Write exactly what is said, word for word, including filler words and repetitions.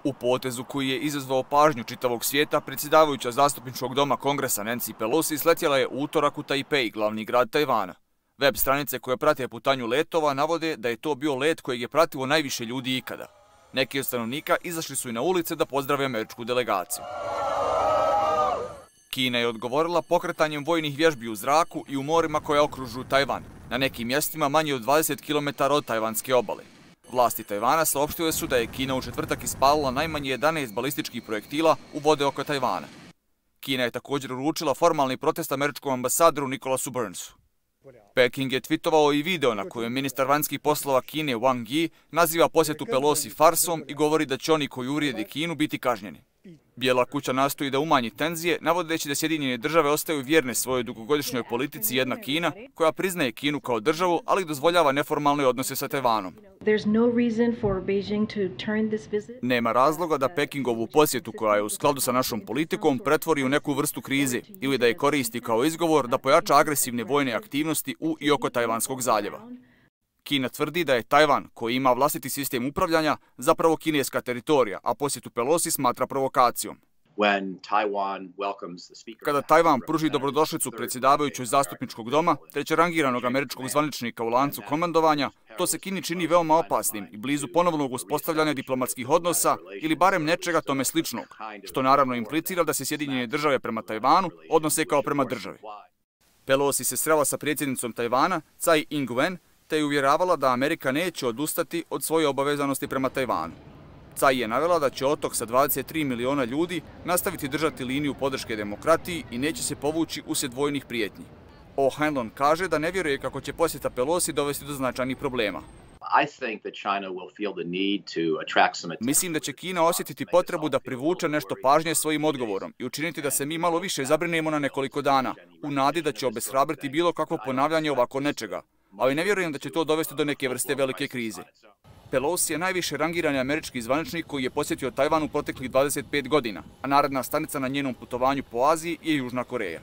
U potezu koji je izazvao pažnju čitavog svijeta, predsjedavajuća zastupničkog doma Kongresa Nancy Pelosi sletjela je u utorak u Tajpej, glavni grad Tajvana. Web stranice koje prate putanju letova navode da je to bio let kojeg je pratilo najviše ljudi ikada. Neki od stanovnika izašli su i na ulice da pozdrave američku delegaciju. Kina je odgovorila pokretanjem vojnih vježbi u zraku i u morima koja okružuju Tajvan, na nekim mjestima manje od dvadeset kilometara od tajvanske obale. Vlasti Tajvana saopštile su da je Kina u četvrtak ispalila najmanje jedanaest balističkih projektila u vode oko Tajvana. Kina je također uručila formalni protest američkom ambasadoru Nicolasu Burnsu. Peking je tvitovao i video na kojem ministar vanjskih poslova Kine Wang Yi naziva posjetu Pelosi farsom i govori da će oni koji uvrijede Kinu biti kažnjeni. Bijela kuća nastoji da umanji tenzije, navodeći da Sjedinjene države ostaju vjerne svojoj dugogodišnjoj politici jedna Kina, koja priznaje Kinu kao državu, ali dozvoljava neformalne odnose sa Tajvanom. Nema razloga da Pekingovu posjetu, koja je u skladu sa našom politikom, pretvori u neku vrstu krize ili da je koristi kao izgovor da pojača agresivne vojne aktivnosti u i oko Tajvanskog zaljeva. Kina tvrdi da je Tajvan, koji ima vlastiti sistem upravljanja, zapravo kineska teritorija, a posjetu Pelosi smatra provokacijom. Kada Tajvan pruži dobrodošlicu predsjedavajućoj zastupničkog doma, trećerangiranog američkog zvaničnika u lancu komandovanja, to se Kini čini veoma opasnim i blizu ponovnog uspostavljanja diplomatskih odnosa ili barem nečega tome sličnog, što naravno implicira da se Sjedinjene države prema Tajvanu odnose kao prema državi. Pelosi se srela sa predsjednicom Tajvana, Tsai Ing-wen, te je uvjeravala da Amerika neće odustati od svoje obavezanosti prema Tajvanu. Tsai je navela da će otok sa dvadeset tri miliona ljudi nastaviti držati liniju podrške demokratiji i neće se povući uslijed vojnih prijetnji. O'Hanlon kaže da ne vjeruje kako će posjeta Pelosi dovesti do značajnih problema. Mislim da će Kina osjetiti potrebu da privuče nešto pažnje svojim odgovorom i učiniti da se mi malo više zabrinemo na nekoliko dana, u nadi da će obeshrabriti bilo kakvo ponavljanje ovako nečega, ali ne vjerujem da će to dovesti do neke vrste velike krize. Pelosi je najviše rangirani američki zvaničnik koji je posjetio Tajvan u proteklih dvadeset pet godina, a naredna stanica na njenom putovanju po Aziji je Južna Koreja.